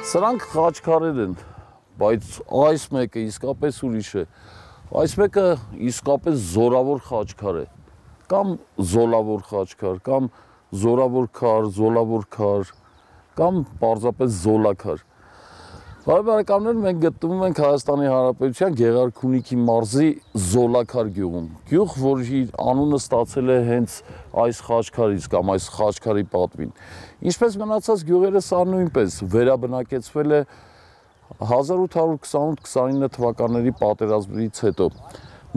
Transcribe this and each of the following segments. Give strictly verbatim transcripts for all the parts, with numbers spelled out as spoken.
Սրանք խաչքարեր են, բայց այս մեկը իսկապես ուրիշ է։ Այս մեկը իսկապես զորավոր խաչքար է, կամ զոլավոր խաչքար, կամ զորավոր քար, զոլավոր քար, կամ պարզապես զոլաքար։ Բարեկամներ, մենք գտնվում ենք Հայաստանի Հանրապետության Գեղարքունիքի մարզի Զոլաքար գյուղում։ Գյուղ, որի անունը ստացել է հենց այս խաչքարից կամ այս խաչքարի պատվին։ Ինչպես մնացած գյուղերը, սա նույնպես վերաբնակեցվել է հազար ութ հարյուր քսանութ քսանինը թվականների պատերազմից հետո։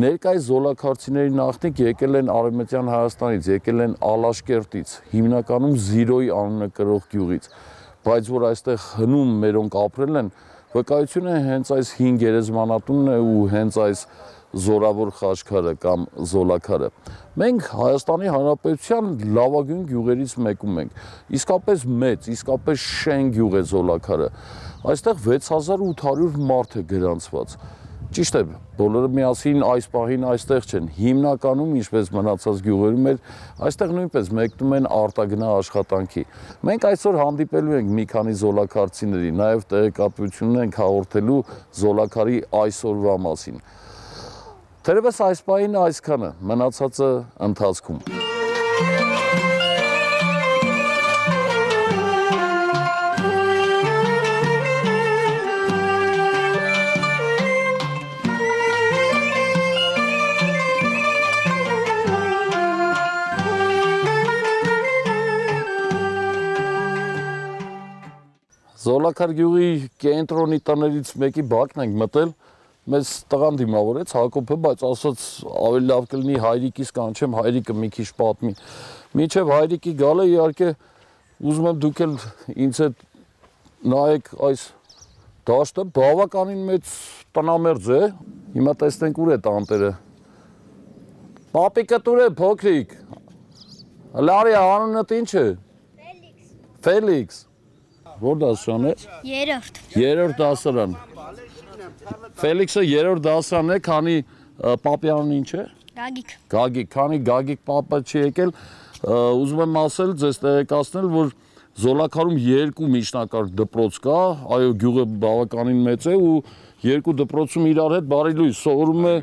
Ներկայիս զոլաքարցիների նախնիկ եկել են Արևմտյան Հայաստանից, եկել են Ալաշկերտից, հիմնականում Զիրոյի անունը կրող գյուղից, բայց որ այստեղ հնում մերոնք ապրել են, վկայություն է հենց այս հին գերեզմանատունն է ու հենց այս զորավոր խաչքարը կամ զոլաքարը։ Մենք Հայաստանի Հանրապետության լավագույն գյուղերից մեկում ենք, իսկապես մեծ, իսկապես շեն գյուղ է Զոլաքարը։ Այստեղ վեց հազար ութ հարյուր մարդ է գրանցված։ Ճիշտ է, բոլորը միասին այս պահին այստեղ չեն, հիմնականում, ինչպես մնացած գյուղերում էր, այստեղ նույնպես մեկնում են արտագնա աշխատանքի։ Մենք այսօր հանդիպելու ենք մի քանի զոլաքարցիների, նաև տեղեկատվություն ենք հաղորդելու Զոլաքարի այսօրվա մասին։ Թերևս այս պահին այսքանը, մնացածը ընթացքում։ Զոլաքար գյուղի կենտրոնի տներից մեկի բակն ենք մտել, մեզ տղան դիմավորեց Հակոբը, բայց ասաց ավելի լավ կլինի հայրիկիս կանչեմ, հայրիկը մի քիչ պատմի։ Մինչև հայրիկի գալը իհարկե ուզում եմ դուք էլ ինձ հետ նայեք այս դաշտը, բավականին մեծ տնամերձ է, հիմա տեսնենք ուր է տանտերը։ Պապիկը տուր է փոքրիկ, լարի անունդ ինչ է։ Ֆելիքս։ Ֆելիքս։ Որ դասարան է։ Երրորդ։ Երրորդ դասարան։ Ֆելիքսը երրորդ դասարան է, քանի պապի անունը ինչ է։ Գագիկ։ Գագիկ, քանի Գագիկ պապը չի եկել, ուզում եմ ասել, ձեզ տեղեկացնել, որ Զոլաքարում երկու միջնակարգ դպրոց կա, այո, գյուղը բավականին մեծ է ու երկու դպրոցում իրար հետ բարելույթ սովորում է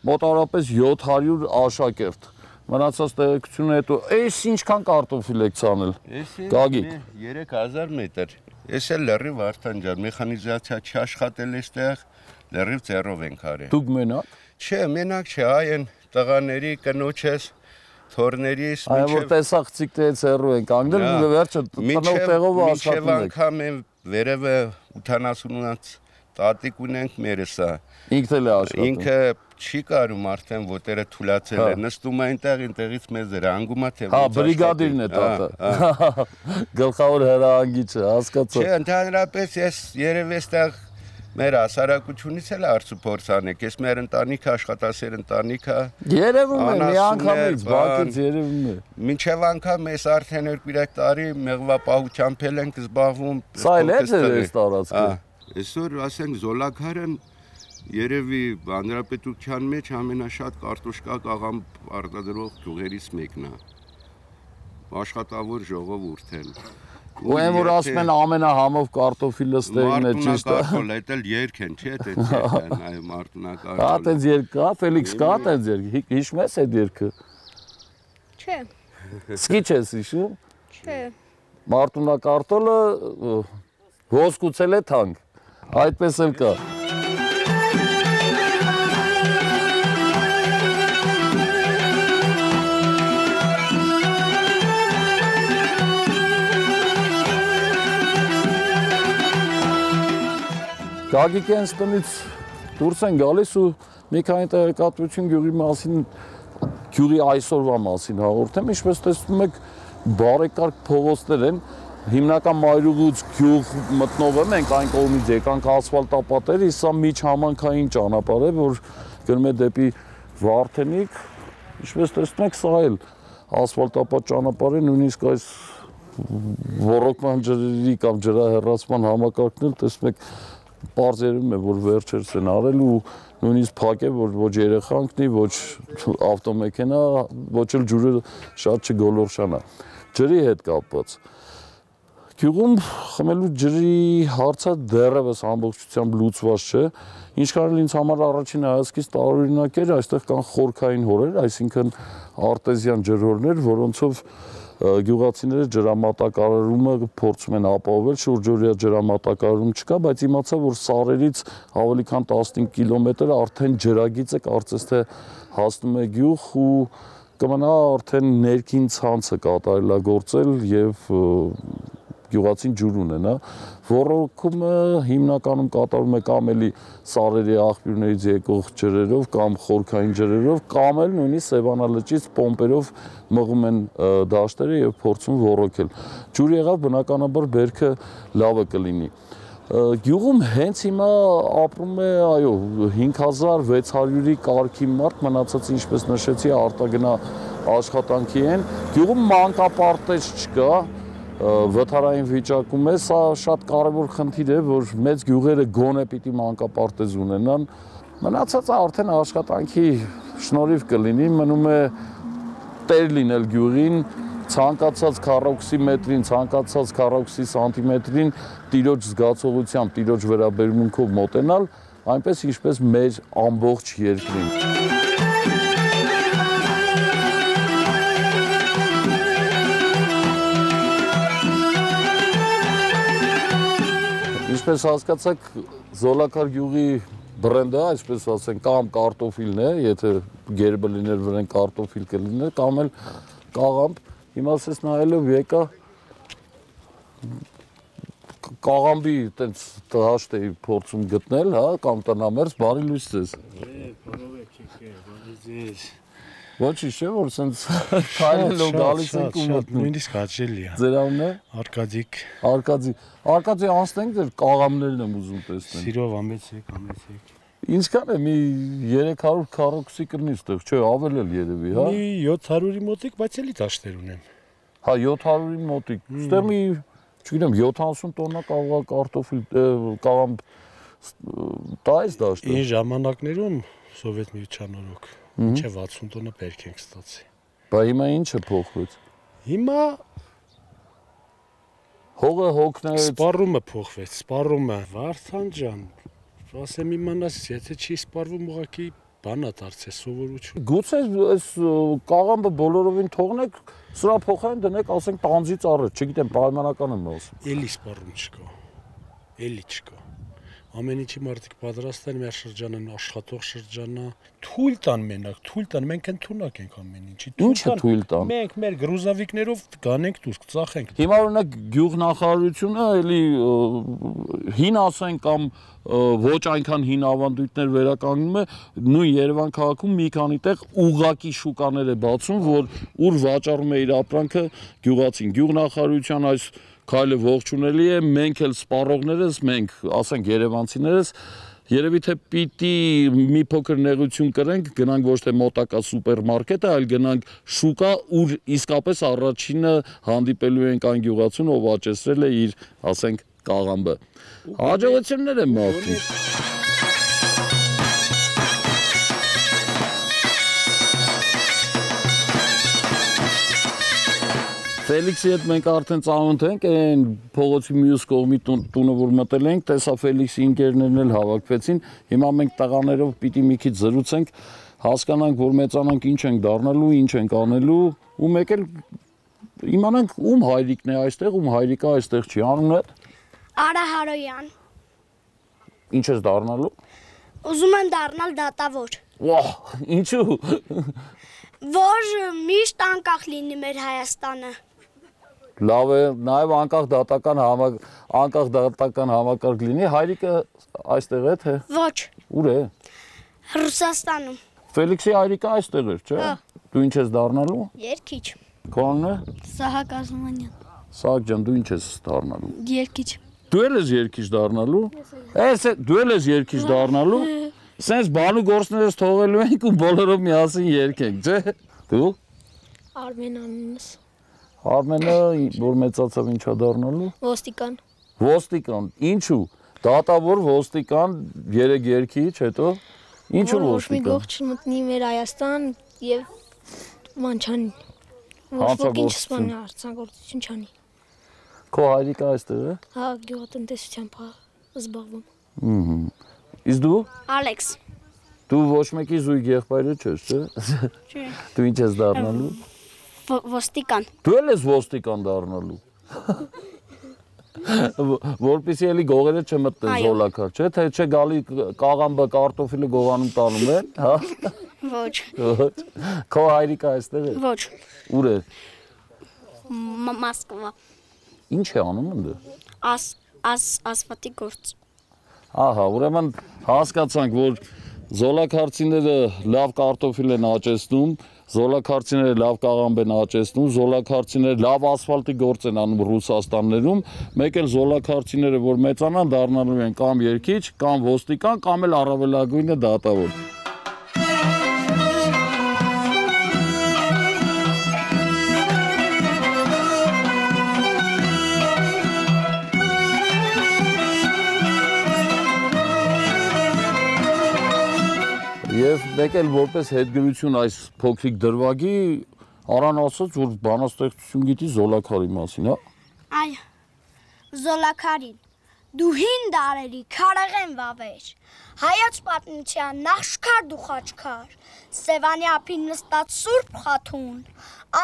մոտավորապես յոթ հարյուր աշակերտ։ Մնացած տեղեկությունը հետո, էս ինչքան կարտոֆիլ եք ցանել։ Գագիկ։ երեք հազար մետր։ Ես էլ լրիվ Վարդան ջան, մեխանիզացիա չաշխատել էստեղ, լրիվ ձեռով ենք արել։ Դուք մենակ։ Չէ, մենակ չէ, այ են տղաների, կնոջս, թորներիս, այո, որ տեսախցիկներից հեռու ենք անգնել, վերջը տնով տեղով աշխատում եք։ Մինչև անգամ են վերևը ութանասունից տատիկ ունենք մերսա։ Ինքն էլ է աշխատում։ Ինքը չի կարում արդեն ոտերը թուլացել է, նստում է այնտեղ, այնտեղից մեզ հրանգում է, թե հա, բրիգադիրն է տատը։ Գլխավոր հրահանգիչը, հասկացա։ Չէ, ընդհանրապես ես երևի այստեղ մեր հասարակությունից էլ արցուփորձ անեք, ես մեր ընտանիքը աշխատասեր ընտանիք է։ Երևում է, մի անգամից, բակից երևում է։ Մինչև անգամ ես արդեն երկու-երեք տարի մեղվապահությամբ էլ ենք զբաղվում։ Սա էլ է ձեր տարածքը։ Այսօր ասենք Զոլաքարն երևի հանրապետության մեջ ամենաշատ կարտոշկա կաղամ արտադրող գյուղերից մեկն է։ Աշխատավոր ժողովուրդ են։ Ու այն որ ասում են ամենահամով կարտոֆիլը ստերին է, ճիշտ է։ Մարտունակարտոֆիլ, դա էլ երկ են, չէ՞, տենց են, այո, մարտունակարտոֆիլ։ Կա տենց երկ կա, Ֆելիքս կա տենց երկ, հիշում ես այդ երգը։ Չէ։ Սկի չես հիշում։ Չէ։ Մարտունակարտոֆիլը ոսկուցել է թանկ, այդպես էլ կա։ Գագիկի հենց տնից դուրս են գալիս ու մի քանի տեղեկատվություն գյուղի մասին, գյուղի այսօրվա մասին հաղորդեմ, ինչպես տեսնում եք, բարեկարգ փողոցներ են, հիմնական Մայրուղուց գյուղ մտնողը մենք այն կողմից եկանք ասֆալտապատեր, իսկ սա միջհամանքային ճանապարհ է, որ գնում է դեպի Վարդենիկ, ինչպես տեսնում եք, սա էլ ասֆալտապատ ճանապարհ է, նույնիսկ այս ոռոգման ջրերի կամ ջրահեռացման համակարգն էլ տեսնում եք պարզ երևում է, որ վերջերս են արել ու նույնիսկ փակ է, որ ոչ երեխա ընկնի, ոչ ավտոմեքենա, ոչ էլ ջուրը շատ չգոլորշանա։ Ջրի հետ կապված Գյուղում խմելու ջրի հարցը դեռևս ամբողջությամբ լուծված չէ։ Ինչքան էլ ինձ համար առաջին հայացքից տարօրինակ էր, այստեղ կան խորքային հորեր, այսինքն արտեզյան ջրհորներ, որոնցով գյուղացիները ջրամատակարարումը փորձում են ապահովել, շուրջօրյա ջրամատակարարում չկա, բայց իմացա, որ Սարերից ավելի քան տասնհինգ կիլոմետր արդեն ջրագիծը կարծես թե հասնում է գյուղ ու կմնա արդեն ներքին ցանցը կատարելագործել եւ գյուղացին ջուր ունենա, ոռոգումը հիմնականում կատարում է կամ էլի սարերի աղբյուրներից եկող ջրերով կամ խորքային ջրերով, կամ էլ նույնիսկ Սևանալճից պոմպերով մղում են դաշտերը եւ փորձում ոռոգել։ Ջուր եղավ, բնականաբար բերքը լավը կլինի։ Գյուղում հենց հիմա ապրում է, այո, հինգ հազար վեց հարյուրի կարգի մարդ, մնացած ինչպես նշեցի, արտագնա աշխատանքի են։ Գյուղում մանկապարտեզ չկա, վթարային վիճակում է, սա շատ կարևոր խնդիր է, որ մեծ գյուղերը գոնե պիտի մանկապարտեզ ունենան, մնացածը արդեն աշխատանքի շնորհիվ կլինի, մնում է տեր լինել գյուղին, ցանկացած քառակուսի մետրին, ցանկացած քառակուսի սանտիմետրին տիրոջ զգացողությամբ, տիրոջ վերաբերմունքով մոտենալ, այնպես ինչպես մեր ամբողջ երկրին։ Ինչպես հասկացաք, Զոլակար գյուղի բրենդը, այսպես ասենք, կամ կարտոֆիլն է, եթե գերբը լիներ վրան կարտոֆիլ կլիներ, կամ էլ կաղամբ, հիմա ասես նայելով եկա կաղամբի տենց դաշտ էի փորձում գտնել, հա, կամ տնամերձ, բարի լույս ձեզ։ Բարովեք եկեք, բարի ձեզ։ Ոչինչ չէ, որ սենց քայլելով գալիս ենք ու մտնում։ Նույնիսկ հաճելի է։ Ձեր անունն է։ Արկադիկ։ Արկադի։ Արկադի անցնենք դեր կաղամներն եմ ուզում տեսնել։ Սիրով ամեցեք, ամեցեք։ Ինչքան է մի երեք հարյուր քառակուսի կրնի ստեղ, չէ, ավել էլ երևի, հա։ Մի յոթ հարյուրի մոտիկ, բայց էլի դաշտեր ունեմ։ Հա, յոթ հարյուրի մոտիկ։ Ստեղ մի, չգիտեմ, յոթանասուն տոննա կաղա կարտոֆիլ, կաղամբ տա ես դաշտը։ Այն ժամանակներում Սովետ միության օրոք մինչև վաթսուն տոննա բերք ենք ստացի։ Բա հիմա ինչ է փոխվեց։ Հիմա Հողը հոգնեց։ սպառումը փոխվեց, սպառումը Վարդան ջան, ասեմ իմանաս, եթե չի սպառվում ուղղակի բանա դարձե սովորություն։ Գուցե այս կաղամբը բոլորովին թողնեք, սրա փոխարեն դնեք, ասենք տանձի ծառը, չգիտեմ, պայմանական եմ ասում։ Էլի սպառում չկա։ Էլի չկա։ Ամեն ինչի մարդիկ պատրաստ են, մեր շրջանը աշխատող շրջանա, թույլ տան մենակ, թույլ տան, մենք ընդունակ ենք ամեն ինչի։ Ինչը թույլ տան։ Մենք մեր գրուզավիկներով գանենք դուրս, ծախենք։ Հիմա օրինակ գյուղնախարարությունը էլի հին ասեն կամ ոչ այնքան հին ավանդույթներ վերականգնում է, նույն Երևան քաղաքում մի քանի տեղ ուղղակի շուկաներ է բացում, որ ուր վաճառում է իր ապրանքը գյուղացին։ Գյուղնախարարության այս քայլը ողջունելի է, մենք էլ սպառողներս, մենք, ասենք երևանցիներս, երևի թե պիտի մի փոքր նեղություն կրենք, գնանք ոչ թե մոտակա սուպերմարկետը, այլ գնանք շուկա, ուր իսկապես առաջինը հանդիպելու ենք այն գյուղացուն, ով աճեցրել է իր, ասենք, կաղամբը։ Հաջողություններ եմ մաղթում։ Ֆելիքսի հետ մենք արդեն ծանոթ ենք, այն փողոցի մյուս կողմի տունը որ մտել ենք, տեսա Ֆելիքսի ընկերներն էլ հավաքվեցին, հիմա մենք տղաներով պիտի մի քիչ զրուցենք, հասկանանք, որ մեծանանք ինչ ենք դառնալու, ինչ ենք անելու, ու մեկ էլ իմանանք ում հայրիկն է այստեղ, ում հայրիկը այստեղ չի, անունը։ Արա Հարոյան։ Ինչ ես դառնալու։ Ուզում եմ դառնալ դատավոր։ Վահ, ինչու։ Որ միշտ անկախ լինի մեր Հայաստանը։ Լավ է, նաև անկախ դատական համակ անկախ դատական համակարգ լինի, հայրիկը այստեղ է թե։ Ոչ։ Ուր է։ Ռուսաստանում։ Ֆելիքսի հայրիկը այստեղ էր, չէ։ Դու ինչ ես դառնալու։ Երգիչ։ Քո անունը։ Սահակ Ազմանյան։ Սահակ ջան, դու ինչ ես դառնալու։ Երգիչ։ Դու էլ ես երգիչ դառնալու։ Էս դու էլ ես երգիչ դառնալու։ Սենց բանու գործներս թողելու ենք ու բոլորով միասին երգենք, չէ։ Դու։ Արմեն անունս։ Արմենը որ մեծացավ ինչա դառնալու։ Ոստիկան։ Ոստիկան, ինչու։ Դատավոր ոստիկան, երեք երգիչ, հետո ինչու Ոչ մի ոստիկան։ գող չմտնի մեր Հայաստան եւ մանչանի։ Ոչ ոք ինչ սպանի, արցանագործություն չանի։ Քո հայրիկը այստեղ է։ Հա, գյուղատնտեսությամբ զբաղվում։ Ահա։ Իսկ դու։ Ալեքս։ Դու ոչ մեկի զույգ եղբայրը չես, չէ՞։ Չէ։ Դու ինչ ես դառնալու։ Ոստիկան։ Դու էլ ես ոստիկան դառնալու։ Որպեսզի էլի գողերը չմտնեն զոլակար, չէ՞, թե չէ գալի կաղամբը կարտոֆիլը գողանում տանում են, հա։ Ոչ։ Ոչ։ Քո հայրիկը այստեղ է։ Ոչ։ Ուր է։ Մոսկվա։ Ինչ է անում ընդ։ Աս աս ասֆալտի գործ։ Ահա, ուրեմն հասկացանք, որ զոլակարցիները լավ կարտոֆիլ են աճեցնում, զոլակարցիները լավ կաղամբ են աճեցնում, զոլակարցիները լավ ասֆալտի գործ են անում Ռուսաստաններում, մեկ էլ զոլակարցիները, որ մեծանան, դառնալու են կամ երգիչ, կամ ոստիկան, կամ էլ առավելագույնը դատավոր։ Եվ մեկ էլ որպես հետգրություն այս փոքրիկ դրվագի Արան ասաց, որ բանաստեղծություն գիտի զոլակարի մասին, հա։ Այո։ Զոլակարին։ Դու հին դարերի քարեղեն վավեր։ Հայոց պատմության նախշքար դու խաչքար։ Սևանի ափին նստած Սուրբ Խաթուն,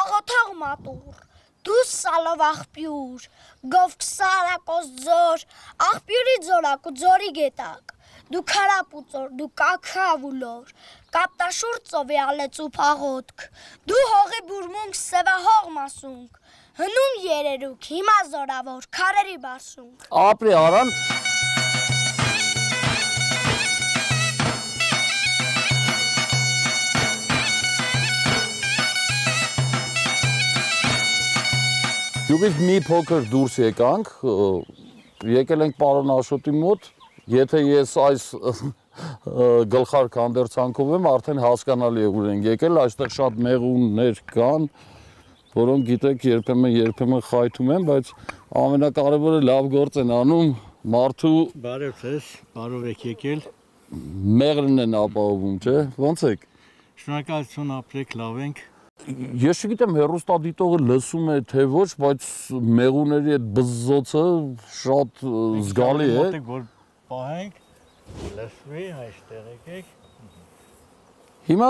աղոթող մատուր, դու սալով աղբյուր, գովք սարակոս ձոր, աղբյուրի ձորակ ու ձորի գետակ։ Դու քարապուծոր, դու կաքավուլոր, կապտաշուր ծովի ալեցու փաղոտք, դու հողի բուրմունք սևահող մասունք, հնում երերուք, հիմա զորավոր, քարերի բարսունք։ Ապրի Արան։ Գյուղից մի փոքր դուրս եկանք, եկել ենք պարոն Աշոտի մոտ, եթե ես այս գլխարկ հանդերձանքով եմ, արդեն հասկանալի է ուր ենք եկել, այստեղ շատ մեղուններ կան, որոնք գիտեք երբեմն երբեմն խայթում են, բայց ամենակարևորը լավ գործ են անում մարդու Բարև ձեզ, բարով եք եկել։ մեղրն են ապահովում, չէ՞, ո՞նց եք։ Շնորհակալություն, ապրեք, լավ ենք։ Ես չգիտեմ հեռուստադիտողը լսում է թե ոչ, բայց մեղուների այդ բզզոցը շատ զգալի է։ Որ պահենք, լսվի, այստեղ եկեք։ Հիմա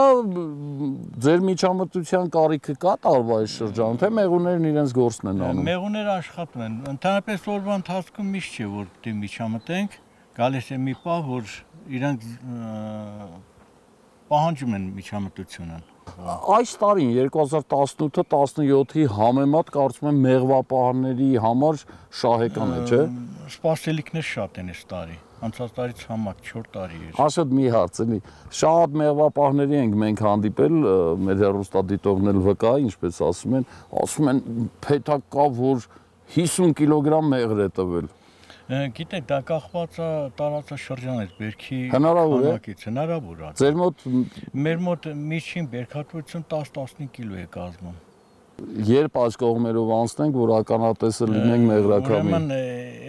ձեր միջամտության կարիքը կա տարվա այս շրջանում, թե մեղուներն իրենց գործն են անում։ Մեղուները աշխատում են։ Ընդհանրապես օրվա ընթացքում միշտ չէ, որ դե միջամտենք, գալիս է մի պահ, որ իրենք պահանջում են միջամտությունը։ Այս տարին երկու հազար տասնութ տասնյոթի համեմատ կարծում եմ մեղվապահների համար շահեկան է, չէ՞։ Սպասելիքներ շատ են այս տարի։ Անցած տարից համակ չորս տարի էր։ Աշոտ մի հարց էլի, շատ մեղվապահների ենք մենք հանդիպել, մեր հեռուստադիտողն էլ վկա, ինչպես ասում են, ասում են փեթակ կա, որ հիսուն կիլոգրամ մեղր է տվել։ Գիտեք, դա կախված է տարածաշրջանից, բերքի քանակից, հնարավոր է։ Ձեր մոտ Մեր մոտ միջին բերքատվություն տաս տասնինք կիլո է կազմում։ Երբ այս կողմերով անցնենք, որ ականատեսը լինենք մեղրակամին։ Ուրեմն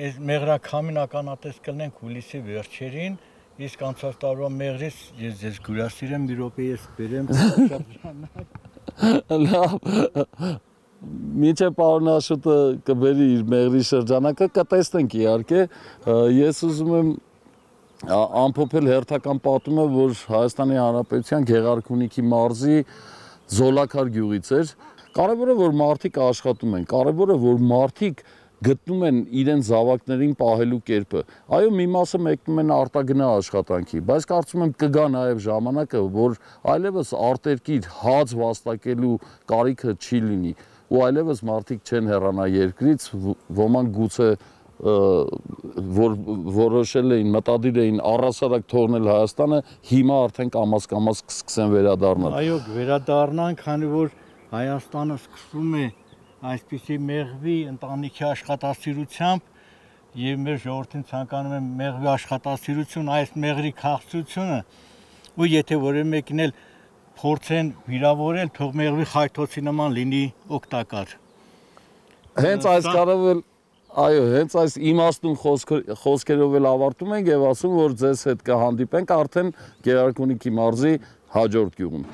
այս մեղրակամին ականատես կլինենք հուլիսի վերջերին, իսկ անցած տարվա մեղրից ես ձեզ գուրասիրեմ, մի րոպե ես բերեմ շրջանակ։ Լավ։ Մինչև պարոն Աշոտը կբերի իր մեղրի շրջանակը, կտեսնենք իհարկե, ես ուզում եմ ամփոփել հերթական պատումը, որ Հայաստանի Հանրապետության Գեղարքունիքի մարզի Զոլակար գյուղից էր։ Կարևորը որ մարդիկ աշխատում են, կարևորը որ մարդիկ գտնում են իրենց զավակներին պահելու կերպը։ Այո, մի մասը մեկնում են արտագնա աշխատանքի, բայց կարծում եմ կգա նաև ժամանակը, որ այլևս արտերկիր հաց վաստակելու կարիքը չի լինի, ու այլևս մարդիկ չեն հեռանա երկրից, ոմանք գուցե որ որոշել էին, մտադիր էին առհասարակ թողնել Հայաստանը, հիմա արդեն կամաց-կամաց կսկսեն վերադառնալ։ Այո, վերադառնանք, քանի որ Հայաստանը սկսվում է այսպիսի մեղվի ընտանիքի աշխատասիրությամբ եւ մեր ժողովրդին ցանկանում եմ մեղվի աշխատասիրություն, այս մեղրի քաղցությունը, ու եթե որևէ մեկին էլ փորձեն վիրավորել, թող մեղվի խայթոցի նման լինի օգտակար։ Հենց այս կարևոր Այո, հենց այս իմաստուն խոսքերով էլ ավարտում ենք եւ ասում, որ ձեզ հետ կհանդիպենք արդեն Գեղարքունիքի մարզի հաջորդ գյուղում։